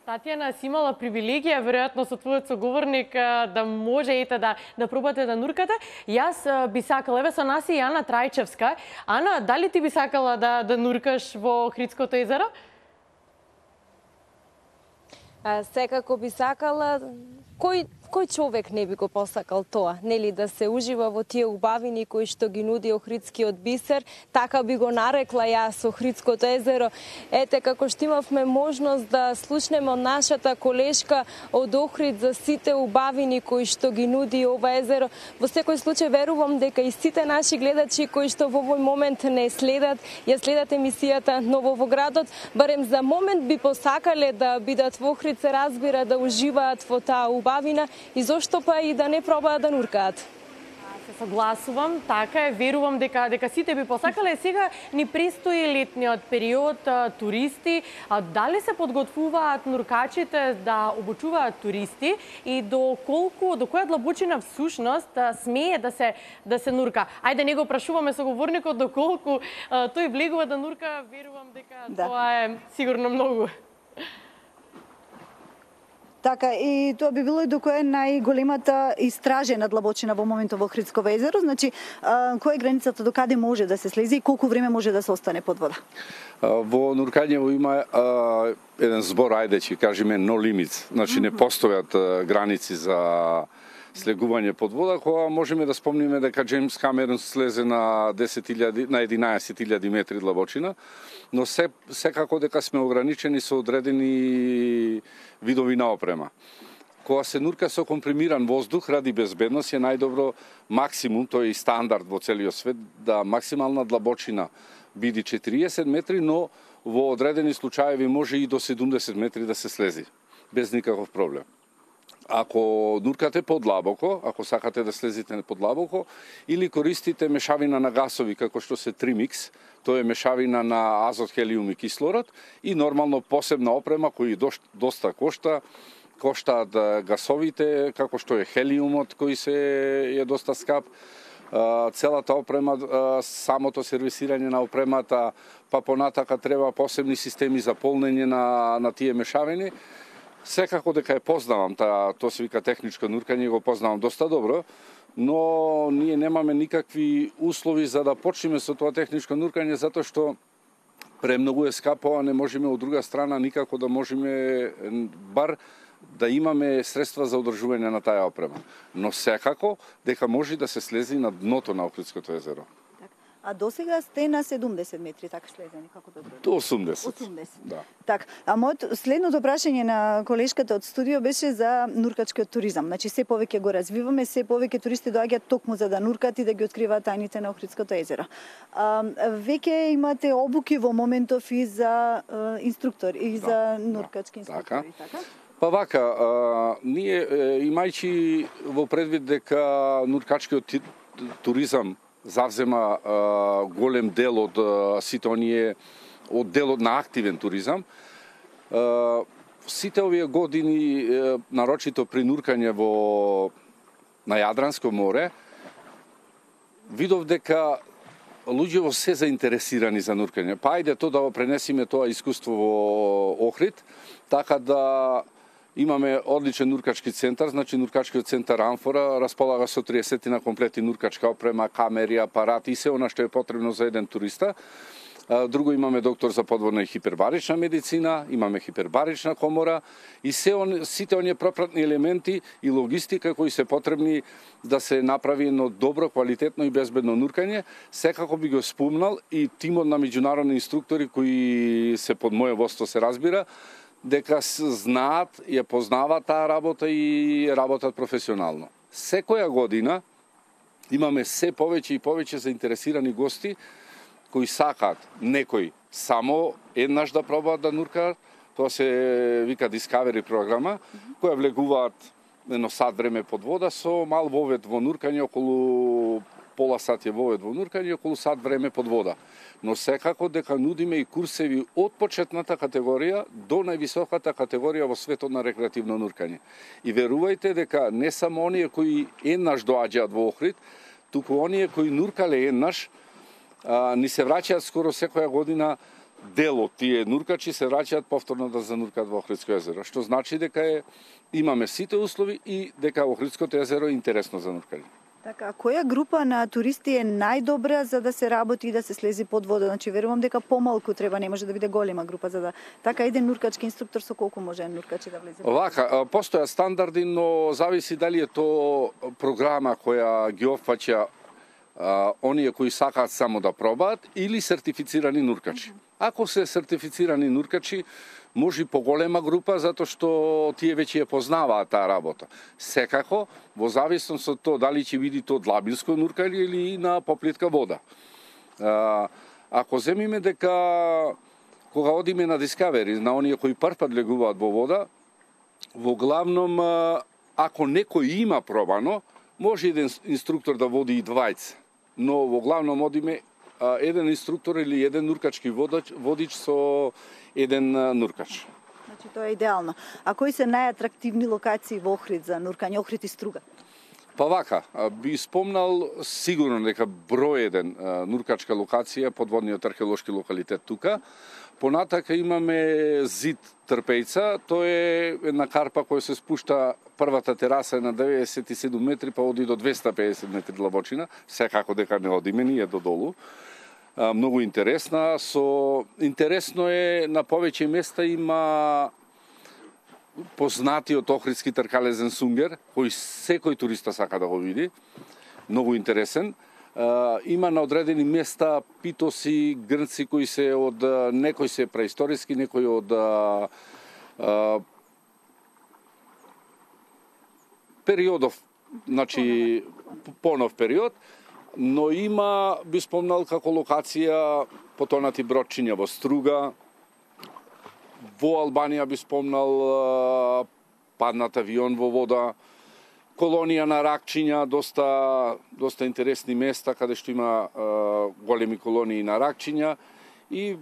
Татјана, си имала привилегија, веројатно со твојот соговорник, да може ете да, да пробате да нуркате. Јас би сакала, еве со нас и Ана Трајчевска. Ана, дали ти би сакала да, да нуркаш во Охридското езеро? А, секако би сакала. Кој, кој човек не би го посакал тоа, нели, да се ужива во тие убавини кои што ги нуди Охридскиот бисер, така би го нарекла јас Охридското езеро. Ете, како што имавме можност да слушнеме од нашата колешка од Охрид за сите убавини кои што ги нуди ова езеро, во секој случај верувам дека и сите наши гледачи кои што во овој момент не следат, ја следат емисијата Ново во градот, барем за момент би посакале да бидат во Охрид, се разбира, да уживаат во таа убавина и зошто па и да не пробаат да нуркаат. Се согласувам, така е, верувам дека дека сите би посакале. Сега ни престои летниот период, туристи, а дали се подготвуваат нуркачите да обучуваат туристи и до колку, до која длабочина всушност смее да се да се нурка? Ајде не го прашуваме соговорникот до колку тој влегува да нурка, верувам дека да. Тоа е сигурно многу. Така, и тоа би било и до која е најголемата истражена длабочина во моментот во Охридско езеро, значи која е границата до каде може да се слези и колку време може да се остане под вода? Во нуркањево има а, еден збор, ајде ќе кажеме no limits, значи не постојат а, граници за слегување под вода, кога можеме да спомниме дека Джеймс Камерон слезе на десет илјади, на единаесет илјади метри длабочина, но се, секако дека сме ограничени со одредени видови на опрема. Кога се нурка со компримиран воздух ради безбедност е најдобро максимум, тој е и стандард во целиот свет, да максимална длабочина биде четириесет метри, но во одредени случаеви може и до седумдесет метри да се слези, без никаков проблем. Ако нуркате подлабоко, ако сакате да слезите подлабоко, или користите мешавина на гасови, како што се Trimix, тоа е мешавина на азот, хелиум и кислород, и нормално посебна опрема кој доста кошта, коштаат гасовите, како што е хелиумот, кој се е доста скап, целата опрема, самото сервисирање на опремата, па понатака треба посебни системи за полнење на, на тие мешавини. Секако дека ја познавам, та, тоа се вика техничко нуркање, го познавам доста добро, но ние немаме никакви услови за да почнеме со тоа техничко нуркање, затоа што премногу е скапо, а не можеме од друга страна никако да можеме бар да имаме средства за одржување на таа опрема. Но секако дека може да се слези на дното на Охридското езеро. А досега сте на седумдесет метри, така слезени, како да добро? До осумдесет. осумдесет. Да. Так, а моето следното прашање на колешката од студио беше за нуркачкиот туризам. Значи се повеќе го развиваме, се повеќе туристи доаѓаат токму за да нуркат и да ги откриваат тајните на Охридското езеро. А, веќе имате обуки во моментов и за а, инструктор и да, за нуркачки инструктори, така? така? Па вака, а, ние имајќи во предвид дека нуркачкиот туризам завзема а, голем дел од а, сите оние од делот на активен туризам. А, сите овие години, а, нарочито при нуркање во на Јадранско море, видов дека луѓето се заинтересирани за нуркање. Па ајде то да го пренесиме тоа искуство во Охрид, така да имаме одличен нуркачки центар, значи нуркачкиот центар Амфора располага со триесет на комплети нуркачка опрема, камери, апарати и се она што е потребно за еден туриста. Друго имаме доктор за подводна и хипербарична медицина, имаме хипербарична комора и се он, сите оние пропратни елементи и логистика кои се потребни да се направи едно добро, квалитетно и безбедно нуркање. Секако би го спомнал и тимот на меѓународни инструктори кои се под моје водство се разбира, дека знаат, ја познаваат таа работа и работат професионално. Секоја година имаме се повеќе и повеќе заинтересирани гости кои сакаат некои само еднаш да пробаат да нуркаат, тоа се вика Discovery програма, која влегуваат едно сат време под вода со мал вовед во нуркање, околу пола сат е вовед во нуркање, околу сат време под вода. Но секако дека нудиме и курсеви од почетната категорија до највисоката категорија во светот на рекреативно нуркање. И верувајте дека не само оние кои еднаш доаѓаат во Охрид, туку оние кои нуркале еднаш, а, ни се враќаат скоро секоја година дел од тие нуркачи се враќаат повторно да зануркаат во Охридско езеро, што значи дека е, имаме сите услови и дека Охридското езеро е интересно за нуркање. Така, која група на туристи е најдобра за да се работи и да се слези под вода? Значи, верувам дека помалку треба, не може да биде голема група за да... Така, еден нуркачки инструктор со колку може нуркачи да влезе? Вака, постоја стандарди, но зависи дали е то програма која ги опфаќа оние кои сакаат само да пробаат или сертифицирани нуркачи. Ако се сертифицирани нуркачи, може и поголема група, затоа што тие веќе ја познаваат таа работа. Секако, во зависност од тоа дали ќе биде то длабинско нуркање или на поплитка вода. А, ако земиме дека кога одиме на Discovery, на оние кои прв пат легуваат во вода, во главном, ако некој има пробано, може еден инструктор да води и двајца. Но во главном одиме еден инструктор или еден нуркачки водач, водич со еден нуркач. Значи тоа е идеално. А кои се најатрактивни локации во Охрид за нуркање, Охрид и Струга? Па вака, би спомнал сигурно дека број еден нуркачка локација, подводниот археолошки локалитет тука. Понатака имаме зид Трпејца, тоа е една карпа која се спушта, првата тераса е на деветдесет и седум метри, па оди до двеста и педесет метри длабочина, секако дека не одиме ние до долу. Многу интересна, со интересно е на повеќе места има познатиот охридски тркалезен сунгер, кој секој туриста сака да го види, многу интересен. Uh, има на одредени места питоси, грнци кои се од некои се преисториски, некои од uh, uh, периодов, значи понов период, но има, би спомнал како локација потонати бродчиња во Струга, во Албанија би спомнал uh, паднат авион во вода, колонија на ракчиња, доста доста интересни места каде што има е, големи колонии на ракчиња и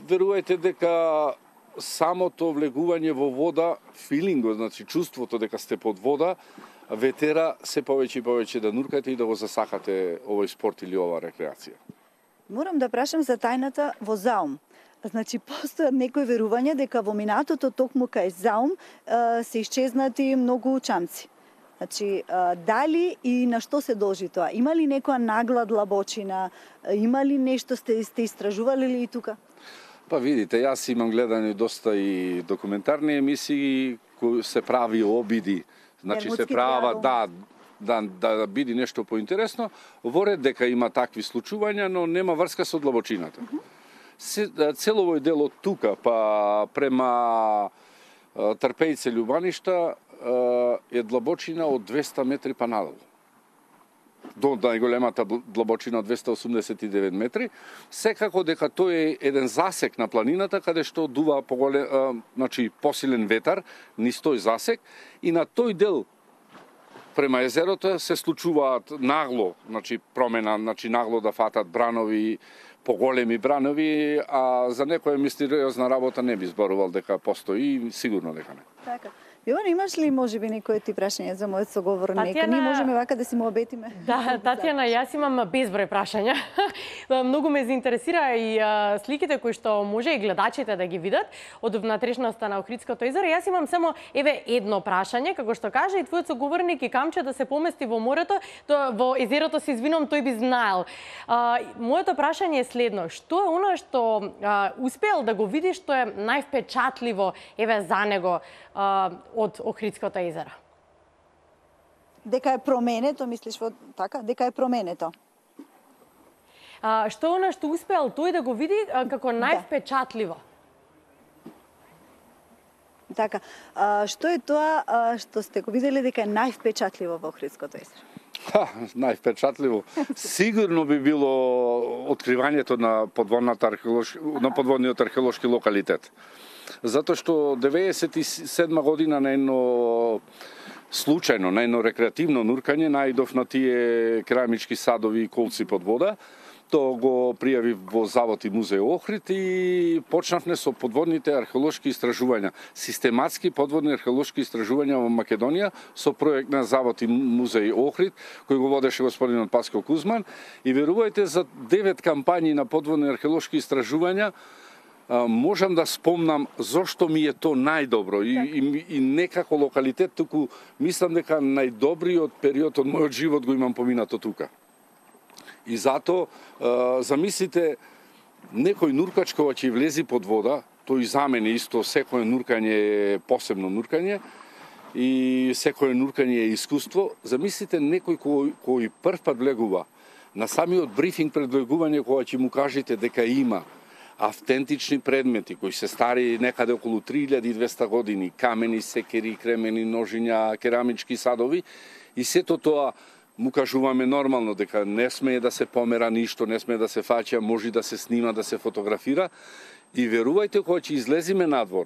верувајте дека самото влегување во вода, филингот, значи чувството дека сте под вода, ве тера се повеќе и повеќе да нуркате и да го засакате овој спорт или ова рекреација. Морам да прашам за тајната во Заум. Значи, постојат некои верувања дека во минатото токму кај Заум се исчезнати многу чамци. Значи, дали и на што се должи тоа? Има ли некоја нагла длабочина? Има ли нешто сте сте истражували ли и тука? Па видите, јас имам гледани доста и документарни емисии кои се прави обиди. Значи се права да да да биде нешто поинтересно, во ред дека има такви случувања, но нема врска со длабочината. Се, цел овој дел од тука па према Трпејце Љубаништа е длабочина од двесте метри па надолу. До најголемата длабочина од двесте осумдесет и девет метри. Секако дека тој е еден засек на планината каде што дува поголем, значи посилен ветар низ тој засек и на тој дел према езерото се случуваат нагло, значи промена, значи нагло да фатат бранови, поголеми бранови, а за некоја мистериозна работа не би зборувал дека постои, сигурно дека не. Така. Јована, имаш ли можеби некој ти прашање за мојот соговорник? Татјана... Ние можеме вака да си му обетиме. Да, Татјана, јас имам безброј прашања. Многу ме заинтересира и а, сликите кои што може и гледачите да ги видат од внатрешноста на Охридското езеро. Јас имам само еве едно прашање, како што кажа и твојот соговорник и камче да се помести во морето, то во езерото се извинувам, тој би знаел. А, моето прашање е следно: што е она што а, успеал да го види што е највпечатливо еве за него а, од Охридското езеро? Дека е променето, мислиш во така? Дека е променето? А, што е она што успеал тој да го види а, како највпечатливо? Така. А, што е тоа а, што сте го виделе дека е највпечатливо во Охридското езеро? Ха, највпечатливо. Сигурно би било откривањето на подводната археолошки, на подводниот археолошки локалитет. Затоа што деветдесет и седма година на едно случајно, на едно рекреативно нуркање најдов на тие керамички садови и колци под вода. Тоа го пријави во Завод и музеј Охрид и почнавме со подводните археолошки истражувања. Систематски подводни археолошки истражувања во Македонија со проект на Завод и музеј Охрид, кој го водеше господинот Паскал Кузман. И верувајте, за девет кампањи на подводни археолошки истражувања можам да спомнам зошто ми е то најдобро и, и, и некако локалитет, туку мислам дека најдобриот период од мојот живот го имам поминато тука. И затоа, замислите, некој нуркач кога ќе влези под вода, тој за мене исто, секој нуркање е посебно нуркање и секој нуркање е искуство. Замислите некој кој, кој прв пат влегува, на самиот брифинг пред влегување кога ќе му кажете дека има автентични предмети кои се стари некаде околу три илјади и двесте години, камени, секери, кремени, ножиња, керамички садови и сето тоа му кажуваме нормално дека не смее да се помера ништо, не смее да се фаќа, може да се снима, да се фотографира и верувајте кога ќе излезиме надвор,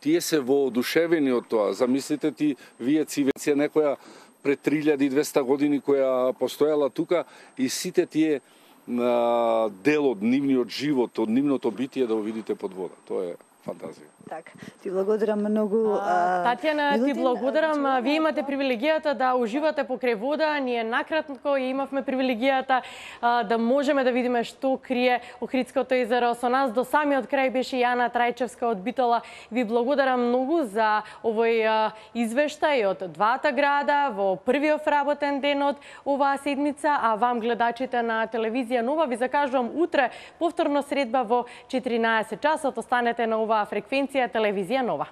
тие се воодушевени од тоа. Замислите ти, вие цивеција некоја пред три илјади и двесте години која постоела тука и сите тие дел од нивниот живот, од нивното битие да го видите под вода. Тоа е фантазија. Така, ти благодарам многу. А, Татјана, ти благодарам. Вие имате привилегијата да уживате покрај вода. Ние накратко имавме привилегијата а, да можеме да видиме што крие Охридското езеро. Со нас до самиот крај беше Јана Трајчевска од Битола. Ви благодарам многу за овој а, извештај од двата града во првиот работен ден од оваа седмица, а вам гледачите на телевизија Нова ви закажувам утре повторно средба во четиринаесет часот. Останете на оваа фреквенција телевизија Нова.